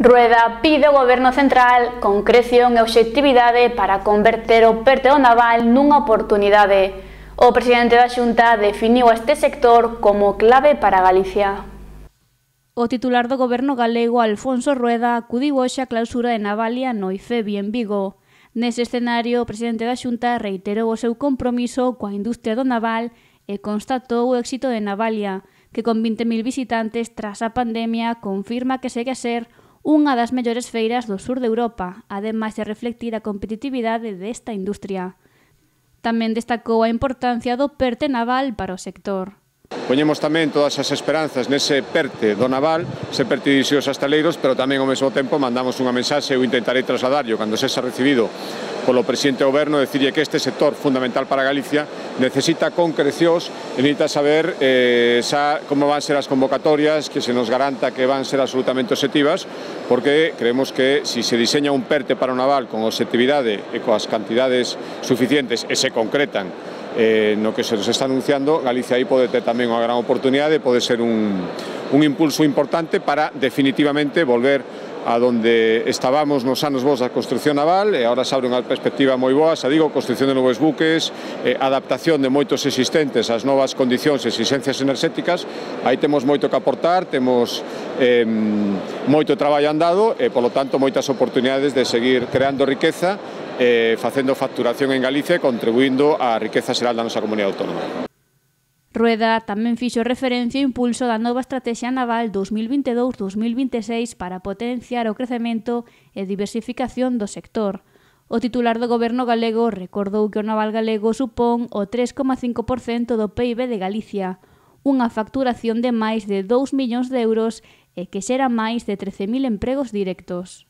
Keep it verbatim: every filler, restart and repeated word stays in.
Rueda pide ao Goberno Central concreción e obxectividade para converter o PERTE do naval nunha oportunidade. O presidente da Xunta definiu este sector como clave para Galicia. O titular do Goberno galego, Alfonso Rueda, acudiu hoxe á clausura de Navalia no IFEBI en Vigo. Nese escenario, o presidente da Xunta reiterou o seu compromiso coa industria do naval e constatou o éxito de Navalia, que con vinte mil visitantes tras a pandemia confirma que segue a ser unha das mellores feiras do sur de Europa, ademais de reflectir a competitividade desta industria. Tamén destacou a importancia do PERTE naval para o sector. Poñemos tamén todas as esperanzas nese PERTE do naval, ese PERTE dirixido aos hostaleiros, pero tamén ao mesmo tempo mandamos unha mensaxe, eu intentarei trasladarlo cando sexa recibido polo presidente do Goberno, decirlle que este sector fundamental para Galicia necesita concrecións e necesita saber eh, xa como van ser as convocatorias, que se nos garanta que van ser absolutamente obxectivas, porque creemos que si se diseña un PERTE para o naval con obxectividade e coas cantidades suficientes e se concretan eh, no que se nos está anunciando, Galicia aí pode ter tamén unha gran oportunidade, pode ser un, un impulso importante para definitivamente volver a donde estábamos nos anos bons da construcción naval e agora se abre unha perspectiva moi boa, xa digo, construcción de novos buques, eh, adaptación de moitos existentes ás novas condicións e exigencias enerxéticas. Aí temos moito que aportar, temos eh, moito traballo andado e, polo tanto, moitas oportunidades de seguir creando riqueza e eh, facendo facturación en Galicia e contribuindo á riqueza xeral da nosa comunidade autónoma. Rueda tamén fixo referencia ao impulso da nova Estrategia Naval dos mil vinte e dous a dos mil vinte e seis para potenciar o crecemento e diversificación do sector. O titular do Goberno galego recordou que o naval galego supón o tres coma cinco por cento do P I B de Galicia, unha facturación de máis de dous millóns de euros e que xera máis de trece mil empregos directos.